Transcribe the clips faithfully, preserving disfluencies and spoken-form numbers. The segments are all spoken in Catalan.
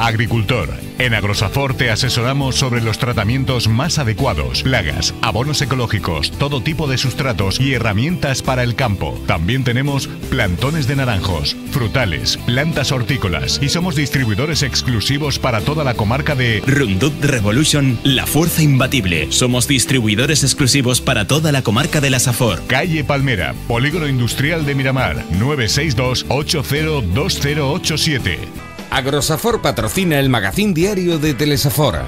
Agricultor. En Agrosafor te asesoramos sobre los tratamientos más adecuados, plagas, abonos ecológicos, todo tipo de sustratos y herramientas para el campo. También tenemos plantones de naranjos, frutales, plantas hortícolas y somos distribuidores exclusivos para toda la comarca de Roundup Revolution, la fuerza imbatible. Somos distribuidores exclusivos para toda la comarca de la Safor. Calle Palmera, Polígono Industrial de Miramar, nueve seis dos, ocho cero dos cero ocho siete. Agrosafor patrocina el magazín diario de Telesafor.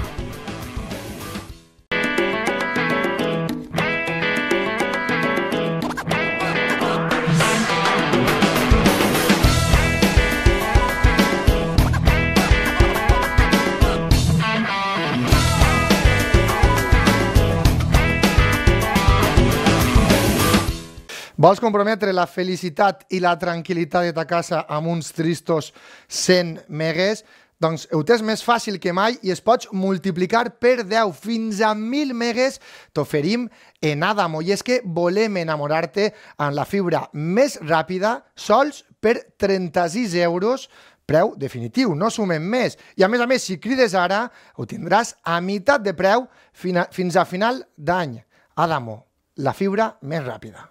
Vols comprometre la felicitat i la tranquil·litat de ta casa amb uns tristos cent megues? Doncs ho tens més fàcil que mai i es pots multiplicar per deu fins a mil megues. T'oferim en Adamo i és que volem enamorar-te amb la fibra més ràpida sols per trenta-sis euros, preu definitiu, no sumem més. I a més a més, si crides ara, ho tindràs a meitat de preu fins a final d'any. Adamo, la fibra més ràpida.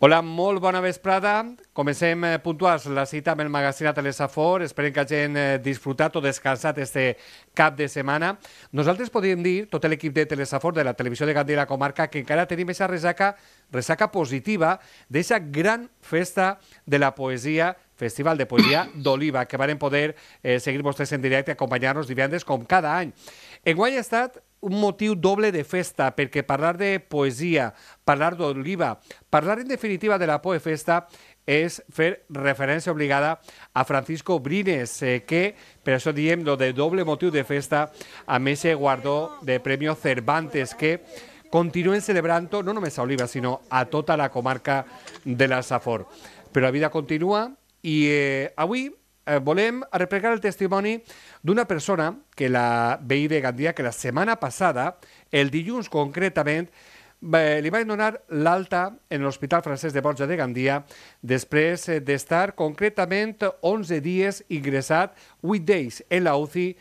Hola, molt bona vesprada. Comencem puntuals la cita amb el magazín a Telesafor. Esperem que hagin disfrutat o descansat este cap de setmana. Nosaltres podríem dir, tot l'equip de Telesafor, de la televisió de Gandia i la comarca, que encara tenim aquesta resaca, resaca positiva d'aquesta gran festa de la poesia, Festival de Poesia d'Oliva, que varen poder eh, seguir vostès en directe i acompanyar-nos divendres com cada any. Enguany ha estat un motiu doble de festa, perquè parlar de poesia, parlar d'Oliva, parlar en definitiva de la Poefesta és fer referència obligada a Francisco Brines, eh, que per això diem lo de doble motiu de festa amb aquest guardó de Premio Cervantes, que continuen celebrant-ho no només a Oliva, sinó a tota la comarca de la Safor. Però la vida continua i eh, avui eh, volem replegar el testimoni d'una persona que la veí de Gandia, que la setmana passada, el dilluns concretament, eh, li van donar l'alta en l'Hospital Francesc de Borja de Gandia després eh, d'estar concretament onze dies ingressat, vuit days en la U C I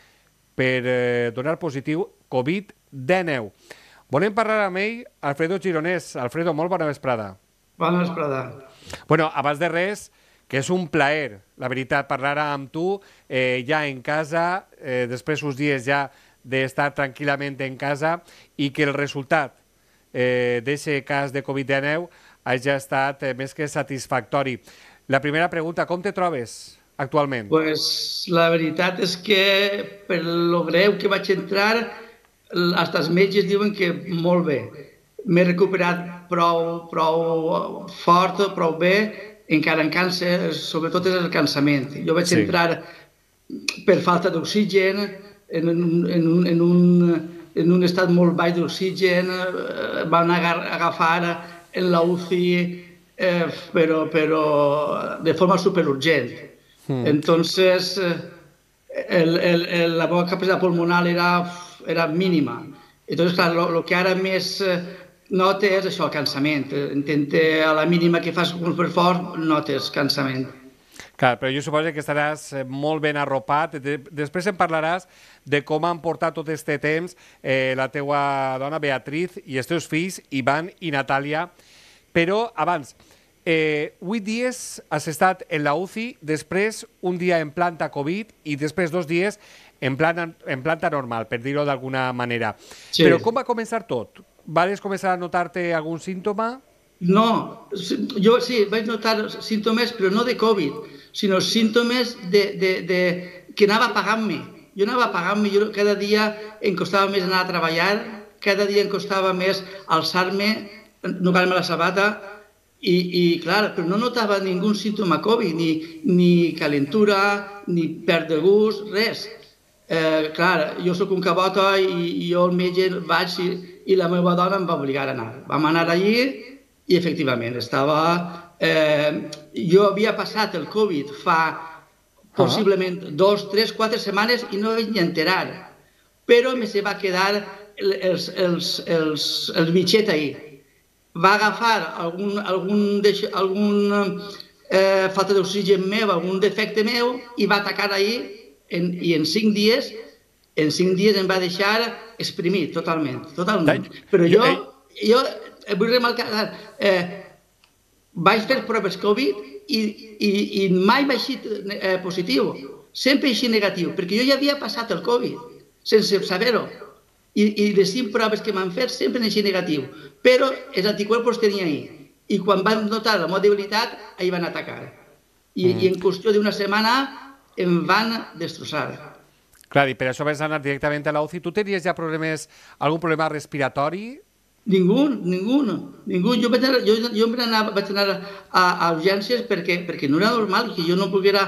per eh, donar positiu Covid dinou. Volem parlar amb ell, Alfredo Gironès. Alfredo, molt bona vesprada. Bona vesprada. Bueno, abans de res, que és un plaer, la veritat, parlar amb tu eh, ja en casa, eh, després uns dies ja d'estar tranquil·lament en casa i que el resultat eh, d'aquest cas de Covid dinou hagi estat eh, més que satisfactori. La primera pregunta, com te trobes actualment? Pues la veritat és que per lo greu que vaig entrar, fins els metges diuen que molt bé. M'he recuperat prou, prou fort, prou bé, encara em cansa, sobretot és el cansament. Jo vaig sí. entrar per falta d'oxigen, en, un, en, un, en, un, en un estat molt baix d'oxigen, eh, van agafar en la U C I, eh, però, però de forma superurgent. Mm. Entonces, el, el, el, la meva capacitat pulmonar era, era mínima. Entonces, clar, lo, lo que ara més nota és això, el cansament. Intenta, a la mínima que fas un per fort, notes cansament. Clar, però jo suposo que estaràs molt ben arropat. Després em parlaràs de com han portat tot aquest temps eh, la teua dona Beatriz i els teus fills, Ivan i Natàlia. Però abans, eh, vuit dies has estat en la U C I, després un dia en planta Covid i després dos dies en planta, en planta normal, per dir-ho d'alguna manera. Sí. Però com va començar tot? Vas començar a notar-te algun símptoma? No, jo sí, vaig notar símptomes, però no de Covid, sinó símptomes de, de, de, que anava apagant-me. Jo anava apagant-me, jo cada dia em costava més anar a treballar, cada dia em costava més alçar-me, notar-me la sabata, i, i clar, però no notava ningú símptoma Covid, ni, ni calentura, ni perd de gust, res. Eh, clar, jo sóc un cabota i, i jo al metge vaig i, i la meva dona em va obligar a anar. Vam anar allí i efectivament estava... Eh, jo havia passat el Covid fa possiblement dos, tres, quatre setmanes i no vaig ni enterar. Però me se va quedar els, els, els, el bitxet ahí. va agafar algun, algun, algun eh, falta d'oxigen meu, algun defecte meu, i va atacar ahir, en, i en cinc dies, en cinc dies em va deixar exprimit totalment, totalment. Però jo, jo vull remarcar, eh, vaig fer proves Covid i, i, i mai vaig ser eh, positiu, sempre així negatiu, perquè jo ja havia passat el Covid, sense saber-ho. I, I les cinc proves que m'han fet sempre han així negatiu, però els anticuerpos tenia ahir. I quan van notar la meva debilitat, ahir van atacar. I, mm. i en qüestió d'una setmana em van destrossar. Clar, i per això vas anar directament a la U C I. Tu tenies ja problemes, algun problema respiratori? Ningú, ningú, ningú. Jo vaig anar, jo, jo anar, vaig anar a, a urgències perquè, perquè no era normal, que jo no poguera,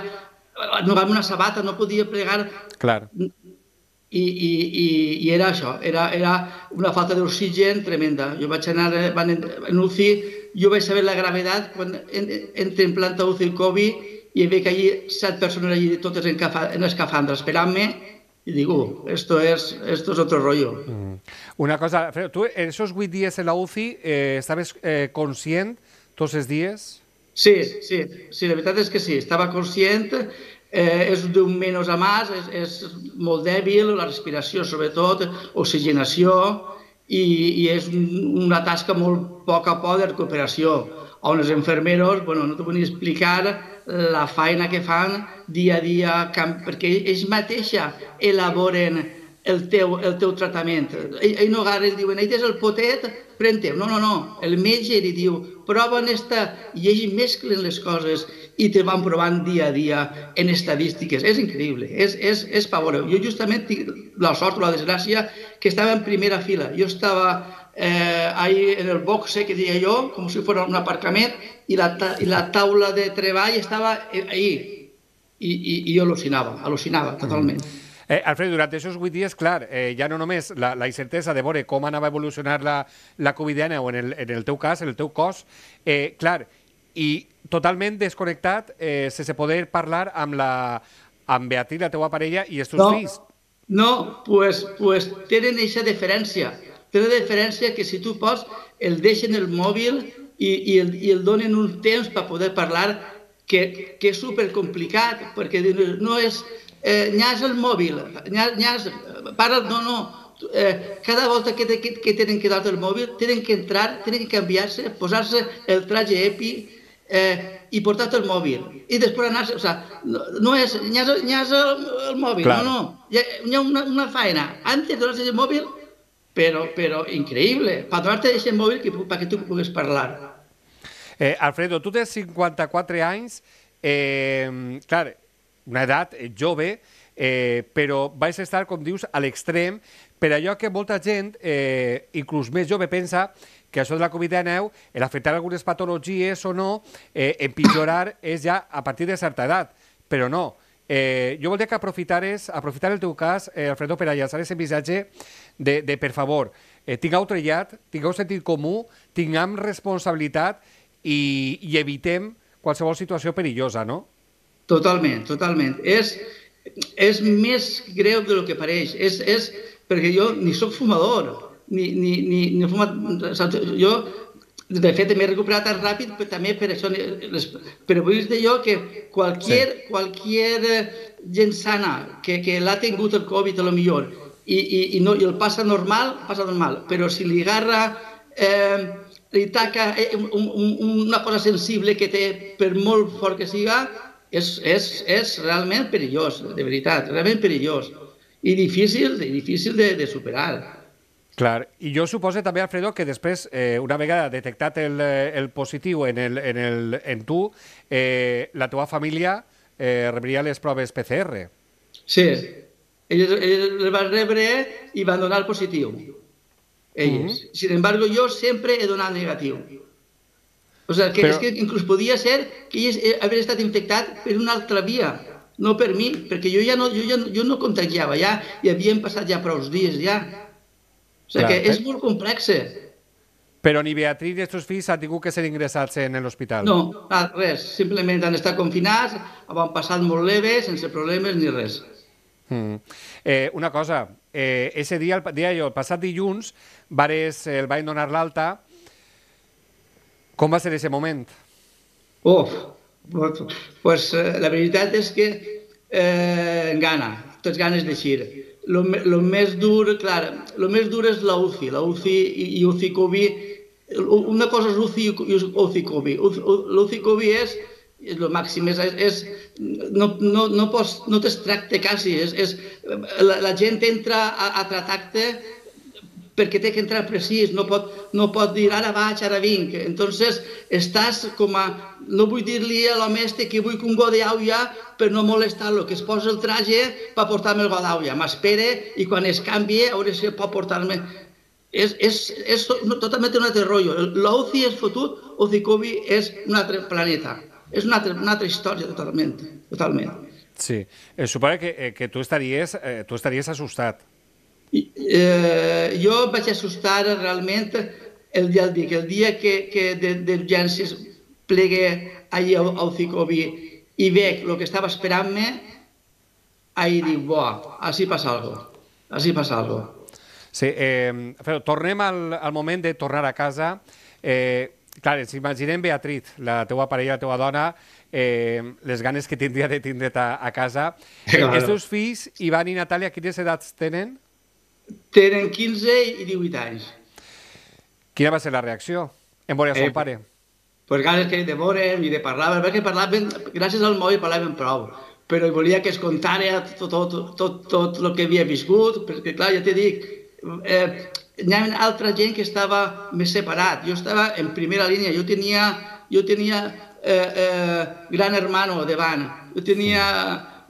no agafar una sabata, no podia plegar. Clar. I, i, i, i era això, era, era una falta d'oxigen tremenda. Jo vaig anar van en, en U C I, jo vaig saber la gravetat quan en, entre en planta U C I el Covid i veig que allí set persones allí totes en, en escafandra esperant-me i digo, esto es, esto es otro rollo. Mm. Una cosa, Alfredo, tu en esos vuit dies en la U C I eh, estaves eh, conscient tots els dies? Sí, sí, sí, la veritat és que sí, estava conscient. Eh, és d'un menys a més, és, és molt dèbil, la respiració sobretot, oxigenació, i, i és un, una tasca molt poc a poc de recuperació, on els infermeros, bueno, no t'ho vull explicar la feina que fan dia a dia, perquè ells mateixa elaboren el teu, el teu tractament. Ells ell no agarren, diuen, ell és el potet, pren-te. No, no, no, el metge li diu, prova en esta, i ells mesclen les coses i te van provant dia a dia en estadístiques. És increïble, és, és, és pavoreu. Jo justament tinc la sort o la desgràcia que estava en primera fila. Jo estava eh, ahí en el boxe, que diria jo, com si fos un aparcament, i la, i la taula de treball estava ahí. I, i, i jo al·lucinava, al·lucinava totalment. Mm. Eh, Alfredo, durant aquests vuit dies, clar, eh, ja no només la, la incertesa de veure com anava a evolucionar la, la Covid dinou en el, en el teu cas, en el teu cos, eh, clar, i totalment desconnectat, eh, sense poder parlar amb, la, amb Beatriz, la teua parella, i els teus no, fills. No, pues, pues tenen aquesta diferència. Tenen la diferència que si tu pots, el deixen el mòbil i, i, el, i el donen un temps per poder parlar, que, que és supercomplicat, perquè no és... Eh, nyas el mòbil, nyas, nyas, para, no, no, eh, cada volta que, que, que tenen que dar el mòbil, tenen que entrar, tenen que canviar-se, posar-se el traje EPI eh, i portar-te el mòbil. I després anar-se, o sea, no, no és nyas, nyas el, el mòbil, claro. no, no, hi ha, hi ha una, una feina, antes de donar-se el mòbil, però, però increïble, per donar-te el mòbil perquè tu puguis parlar. Eh, Alfredo, tu tens cinquanta-quatre anys, eh, clar, una edat jove, eh, però vais estar, com dius, a l'extrem, per allò que molta gent, eh, inclús més jove, pensa que això de la Covid dinou, l'afectar algunes patologies o no, eh, empitjorar és ja a partir de certa edat, però no. Eh, jo voldria que aprofitares, aprofitar el teu cas, eh, Alfredo, per a llançar aquest missatge de, de per favor, eh, tingueu trellat, tingueu sentit comú, tinguem responsabilitat i, i evitem qualsevol situació perillosa, no? Totalment, totalment. És, és més greu del que pareix. És, és perquè jo ni soc fumador, ni, ni, ni, ni fumat, jo, de fet, m'he recuperat tan ràpid, però també per això, les, però vull dir jo que qualquier, sí. qualquier gent sana que, que l'ha tingut el Covid, a lo millor, i, i, i, no, i el passa normal, passa normal, però si li agarra, eh, li taca un, un, una cosa sensible que té, per molt fort que siga, És, és, és realment perillós, de veritat, realment perillós. I difícil, difícil de, de superar. Clar, i jo suposo també, Alfredo, que després, eh, una vegada detectat el, el positiu en, el, en, el, en tu, eh, la teva família eh, rebria les proves P C R. Sí, ells, ells les van rebre i van donar el positiu. Ells. Mm-hmm. Sin embargo, jo sempre he donat negatiu. O sigui, que, Però... és que inclús podia ser que ells havien estat infectat per una altra via, no per mi, perquè jo ja no, jo ja, jo no contagiava, ja i havien passat ja prou dies, ja. O sigui, Clar, que és molt complex. Però ni Beatriz ni els teus fills han tingut que ser ingressats en l'hospital? No, res, simplement han estat confinats, han passat molt leve, sense problemes ni res. Mm. Eh, una cosa, eh, ese dia, el dia jo, el passat dilluns, vares, el vaig donar l'alta. Com va ser aquest moment? Uf, pues la veritat és que eh, gana, tots ganes d'eixir. Lo, lo més dur, clar, lo més dur és la U C I, la U C I i U C I Covid. Una cosa és U C I i U C I Covid. L'U C I Covid és és el màxim, és, és, no, no, no, pots, no t'extracte quasi, és, és, la, la gent entra a, a tractar-te perquè té que entrar precís, no pot, no pot dir ara vaig, ara vinc. Entonces estàs com a, no vull dir-li a l'home este que vull un got d'aigua per no molestar-lo, que es posa el traje per portar-me el got d'aigua, m'espere i quan es canvi a veure si pot portar-me. És, és, és totalment un altre rotllo. La U C I és fotut, U C I Covid és un altre planeta. És una altra, una altra història totalment, totalment. Sí, eh, suposo que, eh, que tu estaries, eh, tu estaries assustat. I, eh, jo vaig assustar realment el dia, el dia, el dia que, que d'urgències plegué allà a U C I Covid i veig el que estava esperant-me, ahir dic, buah, així passa alguna cosa, així passa alguna cosa. Sí, eh, però tornem al, al moment de tornar a casa. Eh, Clar, ens imaginem Beatriz, la teua parella, la teua dona, eh, les ganes que tindria de tindre't a, a casa. Eh, els teus fills, Ivan i Natàlia, quines edats tenen? Tenen quinze i divuit anys. Quina va ser la reacció en veure a son Eh, pare? Pues ganes que de veure'm i de parlar, perquè parlaven, gràcies al mòbil parlaven prou, però volia que es contara tot, tot, tot, tot el que havia viscut, perquè clar, ja t'he dit, eh, hi ha altra gent que estava més separat. Jo estava en primera línia, jo tenia, jo tenia eh, eh, Gran Hermano davant, jo tenia,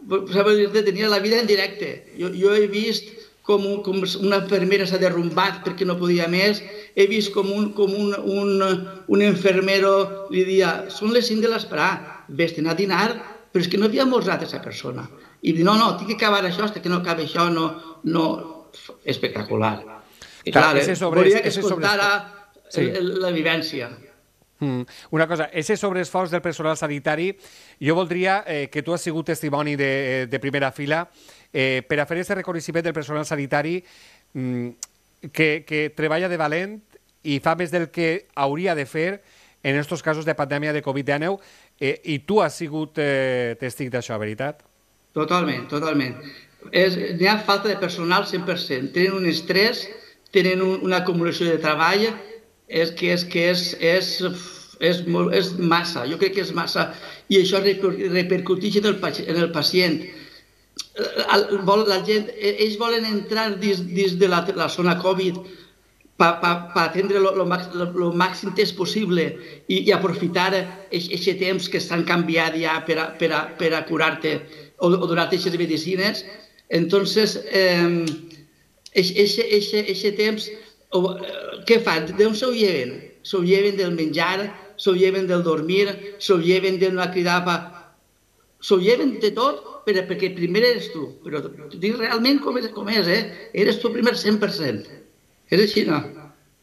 tenia la vida en directe. Jo, jo he vist com, un, com una infermera s'ha derrumbat perquè no podia més, he vist com un, com un, un, un infermero li dia, són les cinc de l'esperar, vés-te'n a dinar, però és que no havia mostrat aquesta persona. I dic, no, no, tinc que acabar això, fins que no acabi això, no, no, espectacular. I clar, volia que es contara la vivència. Una cosa, aquest sobreesforç del personal sanitari, jo voldria que tu has sigut testimoni de primera fila per a fer aquest reconeixement del personal sanitari que treballa de valent i fa més del que hauria de fer en aquests casos de pandèmia de Covid dinou i tu has sigut testig d'això, veritat? Totalment, totalment. N'hi ha falta de personal cent per cent. Tenen un estrès, tenen una acumulació de treball, és que és, que és, és, és, és massa, jo crec que és massa, i això repercuteix en el, en el pacient. La gent, ells volen entrar dins, dins de la, la zona Covid per pa, pa atendre el màxim temps possible i, i aprofitar aquest temps que estan canviat ja per a, per a, per a curar-te o, o donar-te aquestes medicines. Entonces, aquest temps, què fan? D'on s'ho lleven? S'ho lleven del menjar, s'ho lleven del dormir, s'ho lleven d'una cridada, s'ho lleven de tot perquè primer eres tu. Però t'ho dic realment com és, com és, eh? Eres tu primer cent per cent. És així, no?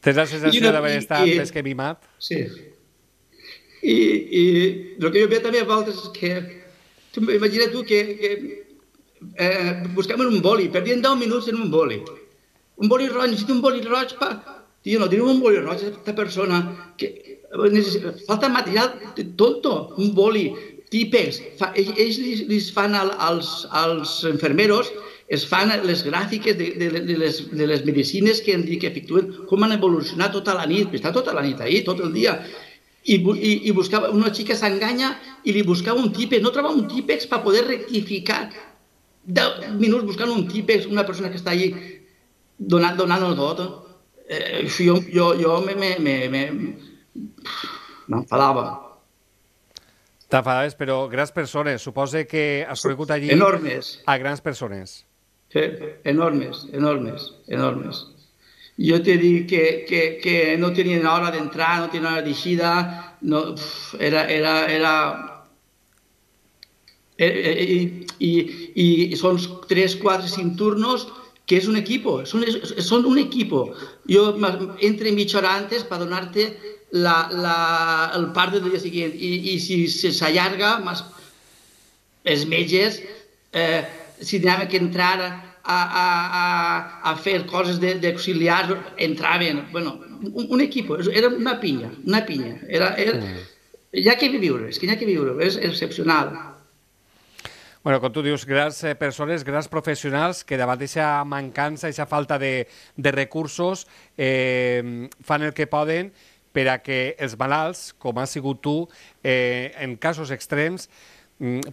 Tens la sensació d'haver estat més que mimat? Sí. I el que jo veig també a voltes és que, imagina't tu que Eh, buscaven un boli, perdien deu minuts en un boli. Un boli roig, necessito un boli roig per... Tio, no tenim un boli roig, aquesta persona que... Falta material tonto, un boli, típex. Ells li fan als, als enfermeros, es fan les gràfiques de, de, de, les, de les medicines que, que efectuen, com han evolucionat tota la nit, està tota la nit ahí, tot el dia. I, i, i buscava, una xica s'enganya i li buscava un típex, no trobava un típex per poder rectificar. deu minuts buscant un típex, una persona que està allí donant-ho tot. Eh, jo jo, jo m'enfadava. T'enfadaves, però grans persones. Suposo que has conegut allí enormes. A grans persones. Sí, enormes, enormes, enormes. Jo t'he dit que, que, que no tenien hora d'entrar, no tenien hora d'eixida, no, era... era, era I, i, i són tres, quatre, cinc turnos que és un equipo, són, són un equipo. Jo entro mitja hora antes per donar-te la, la, el part del dia següent i, i si s'allarga, els metges, eh, si anaven que entrar a, a, a, a fer coses d'auxiliars, entraven. Bueno, un, un equip, era una pinya, una pinya. Era, era, hi ha que viure, és que hi ha que viure, és excepcional. Bueno, com tu dius, grans persones, grans professionals que davant d'aquesta mancança, d'aquesta falta de, de recursos, eh, fan el que poden per a que els malalts, com has sigut tu, eh, en casos extrems,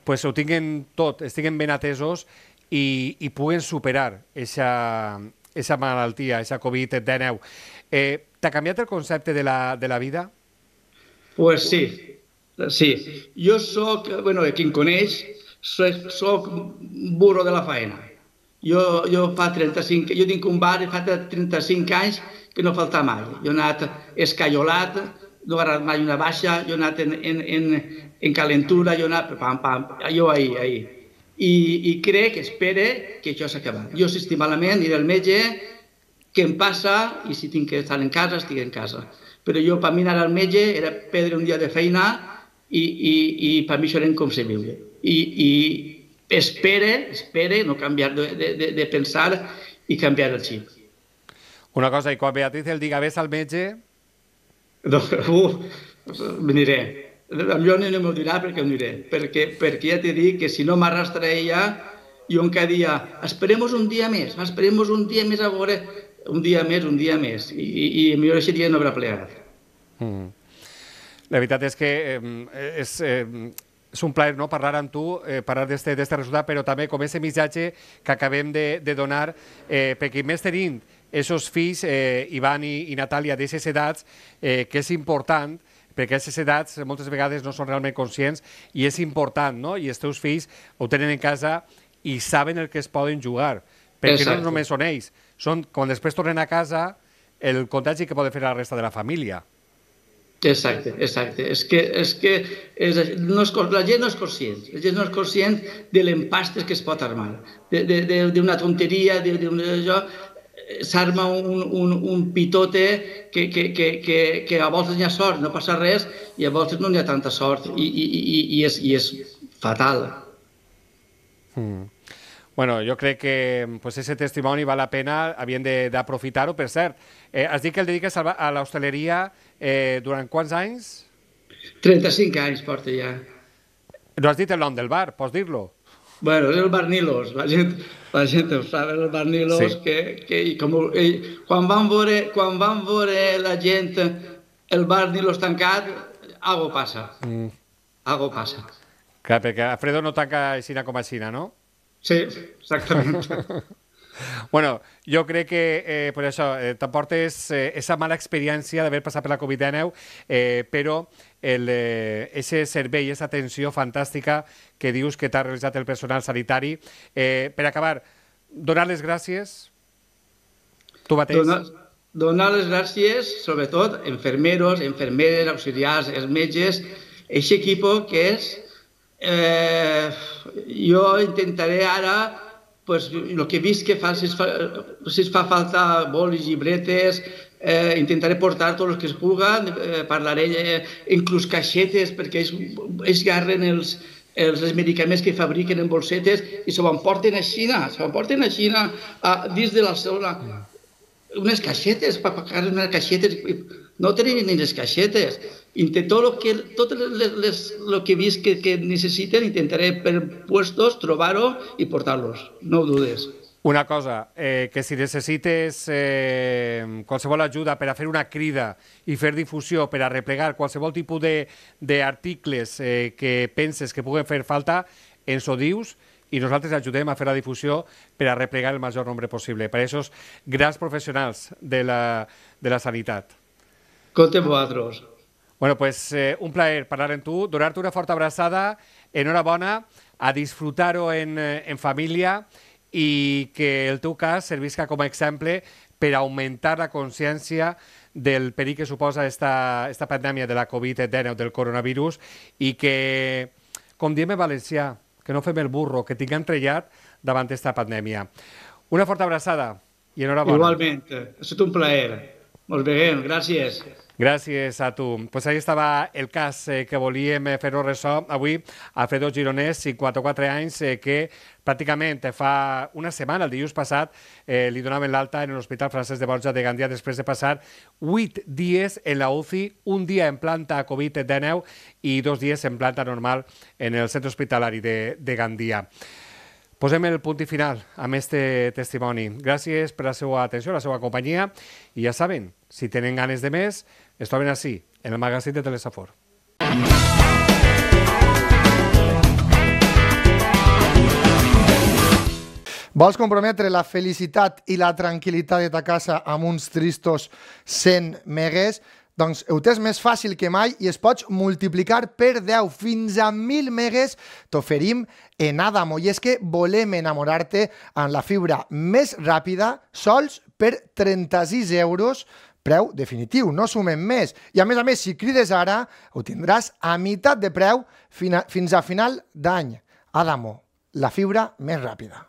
pues ho tinguin tot, estiguen ben atesos i, i puguen superar aquesta malaltia, aquesta covid dinou. Eh, T'ha canviat el concepte de la, de la vida? Pues sí, sí. Jo soc, bueno, qui em coneix, soc, soc burro de la faena. Jo, jo fa trenta-cinc, jo tinc un bar i fa trenta-cinc anys que no falta mai. Jo he anat escaiolat, no he agarrat mai una baixa, jo he anat en, en, en, en calentura, jo he anat pam, pam, jo ahir, ahir. I, i crec, espere, que això s'ha acabat. Jo si estic malament, aniré al metge, què em passa, i si tinc que estar en casa, estic en casa. Però jo, per mi anar al metge era perdre un dia de feina i, i, i per mi això era inconcebible. I, i espere, espere, no canviar de, de, de pensar i canviar el xip. Una cosa, i quan Beatriz el diga ves al metge... No, uh, m'aniré. Jo no m'ho dirà perquè ho diré. Perquè, perquè ja t'he dit que si no m'arrastra ella, jo encara dia, esperemos un dia més, esperemos un dia més a veure, un dia més, un dia més. I, i, i millor aquest dia no haurà plegat. Mm. La veritat és que eh, és... Eh, és un plaer, no?, parlar amb tu, eh, parlar d'este resultat, però també com aquest missatge que acabem de, de donar, eh, perquè més tenint aquests fills, eh, Ivan i, i Natàlia, d'aquestes edats, eh, que és important, perquè aquestes edats moltes vegades no són realment conscients, i és important, no?, i els teus fills ho tenen en casa i saben el que es poden jugar, perquè Exacte. No només són ells, són, quan després tornen a casa, el contagi que poden fer a la resta de la família. Exacte, exacte. És que, és que és, no és, la gent no és conscient, la gent no és conscient de l'empastes que es pot armar, d'una tonteria, s'arma un, un, un pitote que, que, que, que, que a voltes n'hi ha sort, no passa res, i a voltes no n'hi ha tanta sort, i, i, i, i, és, i és fatal. Mm. Bueno, jo crec que pues, ese testimoni val la pena, havien d'aprofitar-ho. Per cert, eh, has dit que el dediques a l'hostaleria eh, durant quants anys? trenta-cinc anys porta ja. No has dit el nom del bar, pots dir-lo? Bueno, és el Bar Nilos, la gent, la gent ho sap, el Bar Nilos, sí. que, que com, eh, quan, van veure, quan van veure la gent el Bar Nilos tancat, algo passa, mm. algo passa. Clar, perquè Alfredo no tanca aixina com aixina, no? Sí, exactament. Bueno, jo crec que eh, per això eh, t'emportes eh, esa mala experiència d'haver passat per la covid dinou, eh, però el, eh, ese servei, esa atenció fantàstica que dius que t'ha realitzat el personal sanitari. Eh, per acabar, donar les gràcies, tu mateix. Donar, donar les gràcies, sobretot, enfermeros, enfermeres, auxiliars, els metges, aquest equip que és... Eh, jo intentaré ara, pues, el que he vist que fa, si es fa, si es fa falta bolis, llibretes, eh, intentaré portar tots els que es puguen, eh, parlaré eh, inclús caixetes, perquè ells, ells agarren els, els, els medicaments que fabriquen en bolsetes i se ho emporten a Xina, se ho emporten a Xina a, dins de la zona. Unes caixetes, per pagar unes caixetes, no tenen ni les caixetes. Tot el que, tot les, les, lo que he vist que, que necessiten, intentaré per puestos trobar-ho i portar-los, no ho dudes. Una cosa, eh, que si necessites eh, qualsevol ajuda per a fer una crida i fer difusió, per a replegar qualsevol tipus d'articles eh, que penses que puguen fer falta, ens ho dius i nosaltres ajudem a fer la difusió per a replegar el major nombre possible, per a aquests grans professionals de la, de la sanitat. Compte amb vosaltres. Bueno, pues eh, un plaer parlar amb tu, donar-te una forta abraçada, enhorabona, a disfrutar-ho en, en família i que el teu cas servisca com a exemple per augmentar la consciència del perill que suposa esta, esta pandèmia de la covid dinou, del coronavirus, i que, com diem en valencià, que no fem el burro, que tinguem trellat davant d'esta pandèmia. Una forta abraçada i enhorabona. Igualment, ha estat un plaer. Ens veiem, gràcies. Gràcies a tu. Pues ahí estava el cas eh, que volíem fer-ho ressò avui. Alfredo Gironès, cinquanta-quatre anys, eh, que pràcticament fa una setmana, el dilluns passat, eh, li donaven l'alta en l'Hospital Francesc de Borja de Gandia després de passar vuit dies en la U C I, un dia en planta Covid dinou i dos dies en planta normal en el centre hospitalari de, de Gandia. Posem el punt i final amb este testimoni. Gràcies per la seva atenció, la seva companyia, i ja saben, si tenen ganes de més, es troben així, en el magazín de Telesafor. Vols comprometre la felicitat i la tranquil·litat de ta casa amb uns tristos cent megues? Doncs ho tens més fàcil que mai i es pots multiplicar per deu, fins a mil megues t'oferim en Adamo. I és que volem enamorar-te amb la fibra més ràpida, sols per trenta-sis euros, preu definitiu, no sumem més. I a més a més, si crides ara, ho tindràs a meitat de preu fins a final d'any. Adamo, la fibra més ràpida.